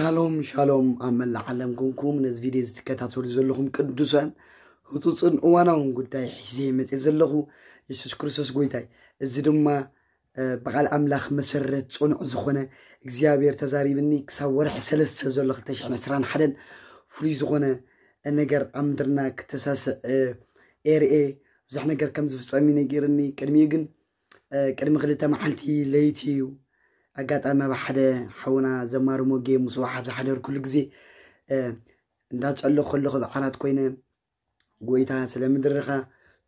ሻሎም ሻሎም፣ ኣብ መላእ ዓለም ኮንኩም ነዚ ቪድዮ ዝትከታተሉ ዘለኹም ቅዱሳን፣ ህጹጽን እዋናውን ጉዳይ ሒዘ መጽእ ዘለኹ። የሱስ ክርስቶስ ጎይታይ። እዚ ድማ ብቓል ኣምላኽ መሰረት ጽኑዕ ዝኾነ፣ እግዚኣብሔር ተዛሪብኒ ክሳብ ወርሒ ሰለስተ ዘሎ ክልተ ሽሕን ዕስራን ሓደን ፍሉይ ዝኾነ ነገር ኣብ ምድርና ክተሳስዕ ኤርኤ ብዙሕ ነገር ከም ዝፍጸም እዩ ነጊርኒ። ቅድሚኡ ግን ቅድሚ ክልተ መዓልቲ ለይቲ እዩ። ኣጋጣሚ ኣብ ሓደ ሓውና ዘማሪ ሞጌ ምስዋሕ ኣብ ዝሓደርኩሉ ግዜ እንዳጸለኹ ከለኹ ብዓራት ኮይነ፣ ጎይታ ስለ ምድርኻ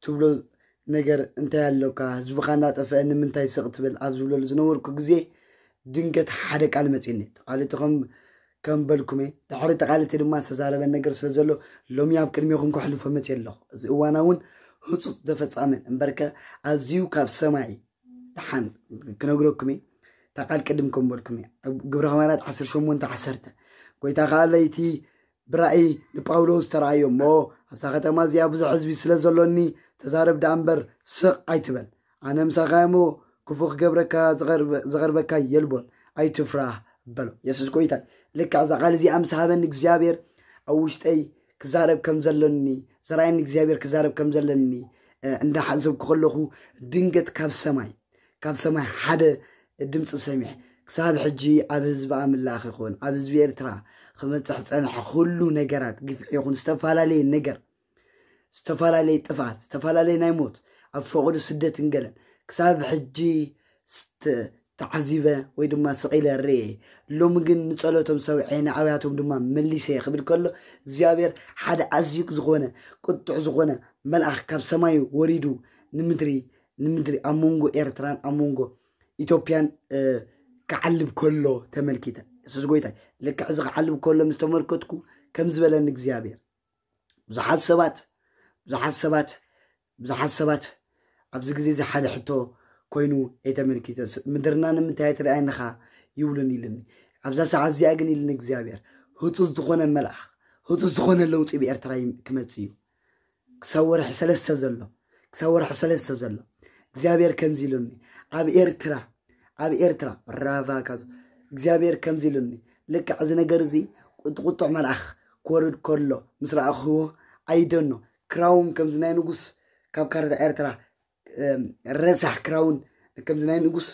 ትብሎ ነገር እንታይ ኣሎካ? ህዝብኻ እንዳጠፍአ ንምንታይ ስቕ ትብል ኣብ ዝብለሉ ዝነበርኩ ግዜ ድንገት ሓደ ቃል መጺኒ። ተቓልቲ ከም ከም በልኩመ ድሕሪ ተቓልቲ ድማ ዝተዛረበን ነገር ስለ ዘሎ ሎሚ ኣብ ቅድሜኹም ከሕልፎ መጺ ኣለኹ። እዚ እዋና እውን ህጹጽ ተፈጻመን እምበርከ ኣዝዩ ካብ ሰማይ ደሓን ክነግረኩም እየ። እታ ቃል ቅድም ከም በልኩም እየ። ግብረ ሃዋርያት ዓሰርተ ሸሞንተ ዓሰርተ። ጎይታ ከኣ ለይቲ ብራእይ ንጳውሎስ ተራእዮ እሞ ኣብዛ ከተማ እዚኣ ብዙሕ ህዝቢ ስለ ዘሎኒ ተዛረብ ደኣ እምበር ስቕ ኣይትበል። ኣነ ምሳኻ እሞ ክፉ ክገብረካ ዝቐርበካ የልቦን ኣይትፍራህ በሎ። የሱስ ጎይታ። ልክዕ እዛ ቃል እዚኣ ምስ ሃበኒ እግዚኣብሔር ኣብ ውሽጠይ ክዛረብ ከም ዘሎኒ ዘራእየኒ እግዚኣብሔር ክዛረብ ከም ዘለኒ እንዳሓሰብኩ ከለኹ ድንገት ካብ ሰማይ ካብ ሰማይ ሓደ ድምፂ ሰሚዐ። ክሳብ ሕጂ ኣብ ህዝቢ ኣምላኽ ይኹን ኣብ ህዝቢ ኤርትራ ክመፅሕ ፀንሐ ኩሉ ነገራት ግፍዒ ይኹን ዝተፈላለየ ነገር ዝተፈላለየ ጥፍኣት ዝተፈላለየ ናይ ሞት ኣብ ፈቐዶ ስደትን ገለን ክሳብ ሕጂ ተዓዚበ ወይ ድማ ስቕ ኢለ ርእየ። ሎሚ ግን ንጸሎቶም ሰምዐ ንኣብያቶም ድማ መሊሰ ክብል ከሎ እግዚኣብሔር ሓደ ኣዝዩ ዝኾነ ቁጡዕ ዝኾነ መልኣኽ ካብ ሰማይ ወሪዱ ንምድሪ ንምድሪ ኣብ መንጎ ኤርትራን ኣብ መንጎ ኢትዮጵያን ክዓልብ ከሎ ተመልኪተ። የሱስ ጎይታ ልክዕ እዚ ክዓልብ ከሎ ምስ ተመልከትኩ ከም ዝበለኒ እግዚኣብሔር ብዙሓት ሰባት ብዙሓት ሰባት ብዙሓት ሰባት ኣብዚ ግዜ እዚ ሓደ ሕቶ ኮይኑ እየ ተመልኪተ። ምድርና ንምንታይ ኣይትርኣየንኻ ይብሉን ኢልኒ። ኣብዛ ሰዓት እዚኣ ግን ኢልኒ እግዚኣብሔር ህፁፅ ዝኾነ መልኣኽ ህፁፅ ዝኾነ ለውጢ ብኤርትራ ክመፅእ እዩ። ክሳብ ወርሒ ሰለስተ ዘሎ ክሳብ ወርሒ ሰለስተ ዘሎ እግዚኣብሔር ከምዚ ኢሉኒ ኣብ ኤርትራ ኣብ ኤርትራ ራቫ ካብ እግዚኣብሔር ከምዚ ኢሉኒ ልክዕ እዚ ነገር እዚ ቁጥቁጥዕ መልኣኽ ክወርድ ከሎ ምስ ረኣኽዎ ኣይደኖ ክራውን ከምዚ ናይ ንጉስ ካብ ካርታ ኤርትራ ረሳሕ ክራውን ከምዚ ናይ ንጉስ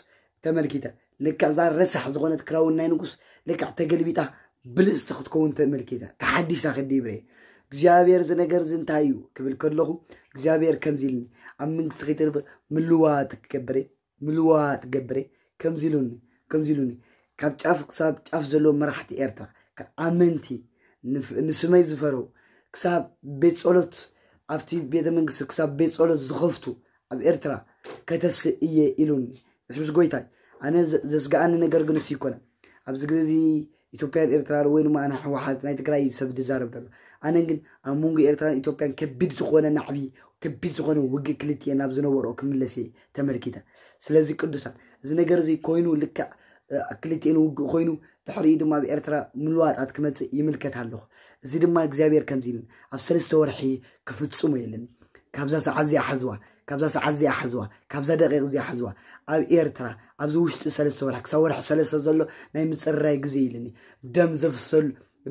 ተመልኪተ ልክዕ እዛ ረሳሕ ዝኾነት ክራውን ናይ ንጉስ ልክዕ ተገልቢጣ ብልፅቲ ክትከውን ተመልኪተ ተሓዲሳ ክዲብረ እግዚኣብሔር እዚ ነገር እዚ እንታይ እዩ ክብል ከለኹ እግዚኣብሔር ከምዚ ኢልኒ ኣብ መንግስቲ ከይተርፈ ምልዋጥ ክገብረ ምልዋጥ ገብረ ከምዚ ኢሉኒ ከምዚ ኢሉኒ ካብ ጫፍ ክሳብ ጫፍ ዘለዉ መራሕቲ ኤርትራ ኣመንቲ ንስመይ ዝፈረው ክሳብ ቤት ጸሎት ኣብቲ ቤተ መንግስቲ ክሳብ ቤት ጸሎት ዝኸፍቱ ኣብ ኤርትራ ከተስእ እየ ኢሉኒ። የሱስ ጎይታይ ኣነ ዘስግኣኒ ነገር ግን እሱ ይኮነ ኣብዚ ግዜ እዚ ኢትዮጵያን ኤርትራን ወይ ድማ ኣነ ህወሓት ናይ ትግራይ ሰብ ዝዛረብ ዘሎ ኣነ ግን ኣብ መንጎ ኤርትራን ኢትዮጵያን ከቢድ ዝኾነ ናዕቢ ከቢድ ዝኾነ ውግእ ክልቲኤን ናብ ዝነበርኦ ክምለስ እየ ተመልኪተ። ስለዚ ቅዱሳን እዚ ነገር እዚ ኮይኑ ልክዕ ክልቲኤን ውግእ ኮይኑ ድሕሪኡ ድማ ኣብ ኤርትራ ምልዋጣት ክመፅእ ይምልከት ኣለኹ። እዚ ድማ እግዚኣብሔር ከምዚ ኢልን ኣብ ሰለስተ ወርሒ ክፍፅሞ የለን። ካብዛ ሰዓት እዚኣ ሓዝዋ፣ ካብዛ ሰዓት እዚኣ ሓዝዋ፣ ካብዛ ደቂቕ እዚኣ ሓዝዋ። ኣብ ኤርትራ ኣብዚ ውሽጢ ሰለስተ ወርሒ ክሳብ ወርሒ ሰለስተ ዘሎ ናይ ምፅርራይ ግዜ ኢልኒ። ደም ዘፍሰሉ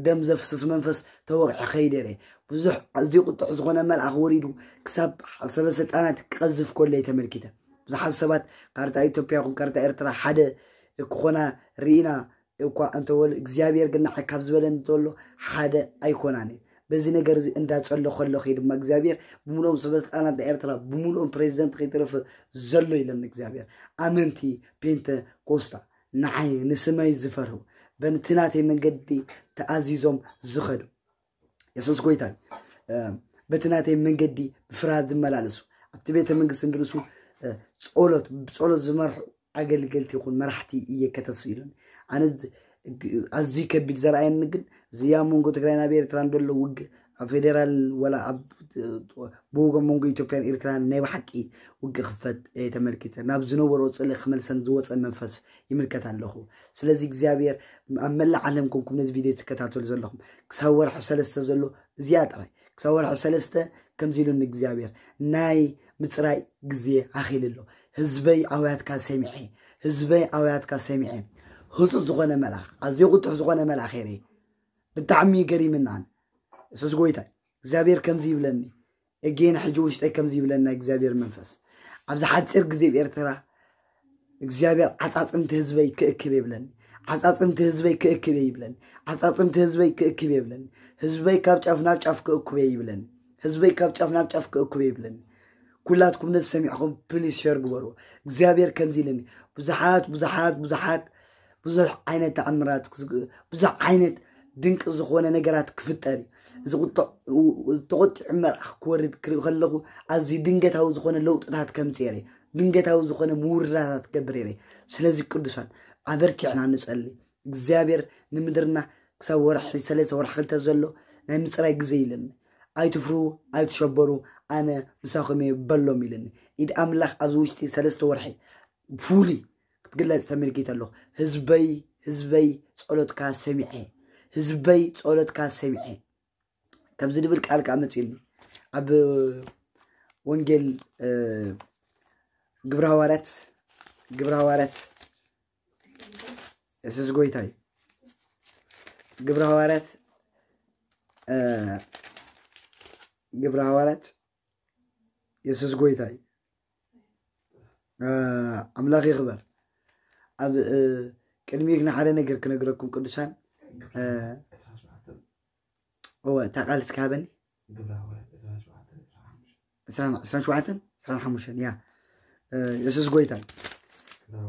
ደም ዘፍስስ መንፈስ ተወቕዐ ከይደረ ብዙሕ ኣዝዩ ቁጥዕ ዝኾነ መልኣኽ ወሪዱ ክሳብ ሰበ ስልጣናት ክቐዝፍ ከሎ ተመልኪተ። ብዙሓት ሰባት ካርታ ኢትዮጵያ ይኹን ካርታ ኤርትራ ሓደ ክኾና ርኢና እኳ እንተወል እግዚኣብሔር ግን ንዓይ ካብ ዝበለኒ እንተሎ ሓደ ኣይኮናን። በዚ ነገር እዚ እንዳጸሎ ከሎ ከይ ድማ እግዚኣብሔር ብምልኦም ሰበ ስልጣናት ናይ ኤርትራ ብምልኦም ፕሬዚደንት ከይተረፈ ዘሎ ኢለን እግዚኣብሔር ኣመንቲ ፔንተ ኮስታ ንዓይ ንስመይ ዝፈርሁ በቲ ናተይ መንገዲ ተኣዚዞም ዝኸዱ የሱስ ጎይታ እዩ። በቲ ናተይ መንገዲ ብፍርሃት ዝመላለሱ ኣብቲ ቤተ መንግስቲ እንድርሱ ጸሎት ብጸሎት ዝመርሑ ኣገልገልቲ ይኹን መራሕቲ እየ ከተስእ ኢሉኒ። ኣነ ኣዝዩ ከቢድ ዘርኣየኒ ግን እዚ ኣብ መንጎ ትግራይ ናብ ኤርትራ እንደሎ ውግእ ኣብ ፌዴራል ወላ ኣብ ብወገን መንጎ ኢትዮጵያን ኤርትራን ናይ ብሓቂ ውግእ ክፈት ተመልኪተ ናብ ዝነበሮ ፅልእ ክመልሰን ዝወፀ መንፈስ ይምልከት ኣለኹ። ስለዚ እግዚኣብሔር ኣብ መላእ ዓለም ኮንኩም ነዚ ቪድዮ ትከታተሉ ዘለኹም ክሳብ ወርሒ ሰለስተ ዘሎ እዚኣ ጥራይ ክሳብ ወርሒ ሰለስተ ከምዚ ኢሉኒ እግዚኣብሔር ናይ ምፅራይ ግዜ ኣኺሉ ኣሎ። ህዝበይ ኣውያትካ ሰሚዐ ህዝበይ ኣውያትካ ሰሚዐ ህፁፅ ዝኾነ መልኣኽ፣ ኣዝዮ ቁጡሕ ዝኾነ መልኣኽ የርኢ። ብጣዕሚ ገሪምናን። እሱስ ጎይታይ እግዚኣብሔር ከምዚ ይብለኒ፣ እጌን ሕጂ ውሽጠይ ከምዚ ይብለና እግዚኣብሔር መንፈስ፣ ኣብዚ ሓፂር ግዜ ኣብ ኤርትራ እግዚኣብሔር ዓፃፅምቲ ህዝበይ ክእክብ ይብለኒ። ዓፃፅምቲ ህዝበይ ክእክብ ይብለኒ። ዓፃፅምቲ ህዝበይ ክእክብ ይብለኒ። ህዝበይ ካብ ጫፍ ናብ ጫፍ ክእኩብ ይብለኒ። ህዝበይ ካብ ጫፍ ናብ ጫፍ ክእኩብ ይብለኒ። ኩላትኩም ነዚ ሰሚዕኹም ፕሊስ ሸር ግበሩ። እግዚኣብሔር ከምዚ ኢለኒ፣ ብዙሓት ብዙሓት ብዙሓት ብዙሕ ዓይነት ተኣምራት ክዝግ- ብዙሕ ዓይነት ድንቂ ዝኾነ ነገራት ክፍጠር እዩ። እዚ ቁጥዕ- ተቆጢዑ መልኣኽ ክወርድ ክርኢ ከለኹ ኣዝዩ ድንገታዊ ዝኾነ ለውጥታት ከምፅእ የርኢ። ድንገታዊ ዝኾነ ምውርዳታት ክገብር የርኢ። ስለዚ ቅዱሳን ኣበርቲዕና ንጸሊ። እግዚኣብሔር ንምድርና ክሳብ ወርሒ ሰለስተ ወርሒ ክልተ ዘሎ ናይ ምፅራይ ግዜ ኢለኒ። ኣይትፍርሁ ኣይትሸበሩ፣ ኣነ ምሳኹም እየ በሎም ኢለኒ። ኢድ ኣምላኽ ኣብዚ ውሽጢ ሰለስተ ወርሒ ፍሉይ ክትግለጽ ተመልኪተ ኣለኹ። ህዝበይ ህዝበይ ጸሎትካ ሰሚዐ፣ ህዝበይ ጸሎትካ ሰሚዐ ከምዚ ድብል ቃል ከዓ መጺእኒ ኣብ ወንጌል ግብረ ሃዋርያት ግብረ ሃዋርያት የሱስ ጎይታ እዩ። ግብረ ሃዋርያት ግብረ ሃዋርያት የሱስ ጎይታ እዩ። ኣምላኽ ይኽበር። ኣብ ቅድሚኡ ግን ሓደ ነገር ክነግረኩም ቅዱሳን። እወ እታ ቃል እስኪ ሃበኒ። ዕስራን ሸውዓተን ዕስራን ሓሙሽተን እያ። የሱስ ጎይታ እዩ።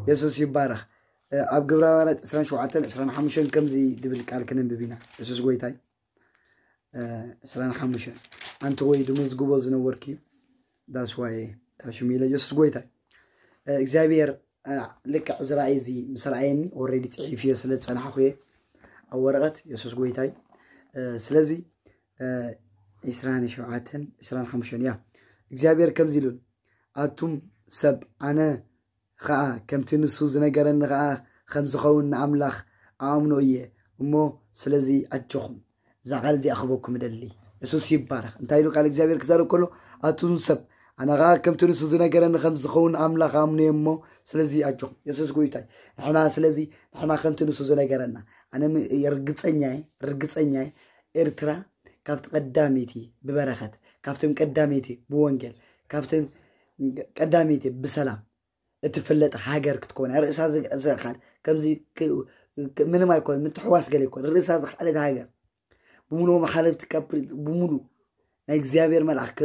የሱስ ይባረኽ። ኣብ ግብረ ሃዋርያት ዕስራን ሸውዓተን ዕስራን ሓሙሽተን ከምዚ ድብል ቃል ክነንብብ ኢና። የሱስ ጎይታ እዩ። ዕስራን ሓሙሽተን ኣንቲ ወይ ድመዝግቦ ዝነበርኩ እዩ። ዳስዋይ ታሽሚለ የሱስ ጎይታ እዩ። እግዚኣብሔር ልክዕ እዚ ራእይ እዚ ምስ ረኣየኒ ኦልሬዲ ፅሒፍዮ ስለ ዝፀናሕኩ እየ ኣብ ወረቐት። የሱስ ጎይታ እዩ። ስለዚ ዕስራን ሸውዓተን ዕስራን ሓሙሽተን እያ። እግዚኣብሔር ከምዚ ኢሉን ኣቱም ሰብ ኣነ ኸዓ ከምቲ ንሱ ዝነገረኒ ኸዓ ከም ዝኸውን ንኣምላኽ ኣኣምኖ እየ እሞ ስለዚ ኣጆኹም እዛ ቃል እዚኣ ክበኩም እደሊ። የሱስ ይባረኽ። እንታይ ኢሉ ቃል እግዚኣብሔር ክዛረብ ከሎ ኣቱም ሰብ ኣነ ኸዓ ከምቲ ንሱ ዝነገረኒ ከም ዝኸውን ኣምላኽ ኣኣምኖ እየ እሞ ስለዚ ኣጆኹም። የሱስ ጎይታይ ንሕና ስለዚ ንሕና ከምቲ ንሱ ዝነገረና ኣነ ርግፀኛ እየ ርግፀኛ እየ ኤርትራ ካብቲ ቀዳመይቲ ብበረኸት ካብቶም ቀዳመይቲ ብወንጌል ካብቶም ቀዳመይቲ ብሰላም እትፍለጥ ሃገር ክትኮን ርእሳ ዝኽኣል ከምዚ ምንም ኣይኮን ምትሕዋስ ገለ ይኮን ርእሳ ዝኽኣለት ሃገር ብምሉኡ መሓለፍቲ ካብ ብምሉ ናይ እግዚኣብሔር መልኣኽ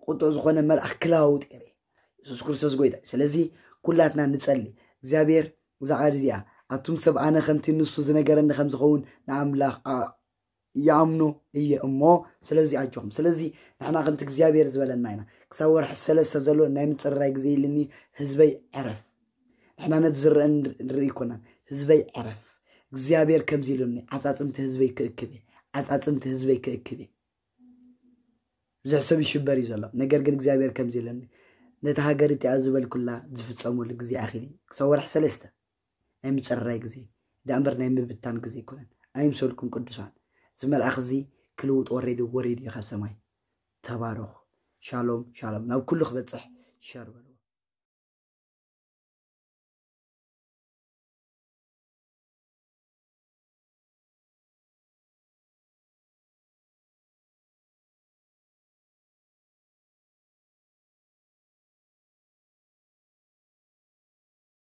ቁጥዕ ዝኾነ መልኣኽ ክለዋውጥ የርኢ የሱስ ክርስቶስ ጎይታ። ስለዚ ኩላትና ንጸሊ እግዚኣብሔር እዛ ቃል እዚኣ ኣቱም ሰብ ኣነ ከምቲ ንሱ ዝነገረኒ ከም ዝኸውን ንኣምላኽ ይኣምኖ እየ እሞ ስለዚ ኣጆኹም። ስለዚ ንሕና ከምቲ እግዚኣብሔር ዝበለና ኢና ክሳብ ወርሒ ሰለስተ ዘሎ ናይ ምፅርራይ ግዜ ኢልኒ ህዝበይ ዕረፍ። ንሕና ነቲ ዝረአ ንርኢ ይኮናን ህዝበይ ዕረፍ። እግዚኣብሔር ከምዚ ኢሉኒ ዓፃፅምቲ ህዝበይ ክእክብ እየ። ዓፃፅምቲ ህዝበይ ክእክብ እየ። ብዙሕ ሰብ ይሽበር እዩ ዘሎ። ነገር ግን እግዚኣብሔር ከምዚ ኢሉኒ ነቲ ሃገር እቲኣ ዝበልኩላ ዝፍፀመሉ ግዜ ኣኺል እዩ። ክሳብ ወርሒ ሰለስተ ናይ ምፅርራይ ግዜ ደኣ እምበር ናይ ምብታን ግዜ ኣይኮነን። ኣይምሰልኩም ቅዱሳን፣ እዚ መልኣኽ እዚ ክልውጥ ወሪዱ ወሪዱ እዩ ካብ ሰማይ። ተባረኹ። ሻሎም ሻሎም። ናብ ኩሉ ክበፅሕ ሸር በልዎ።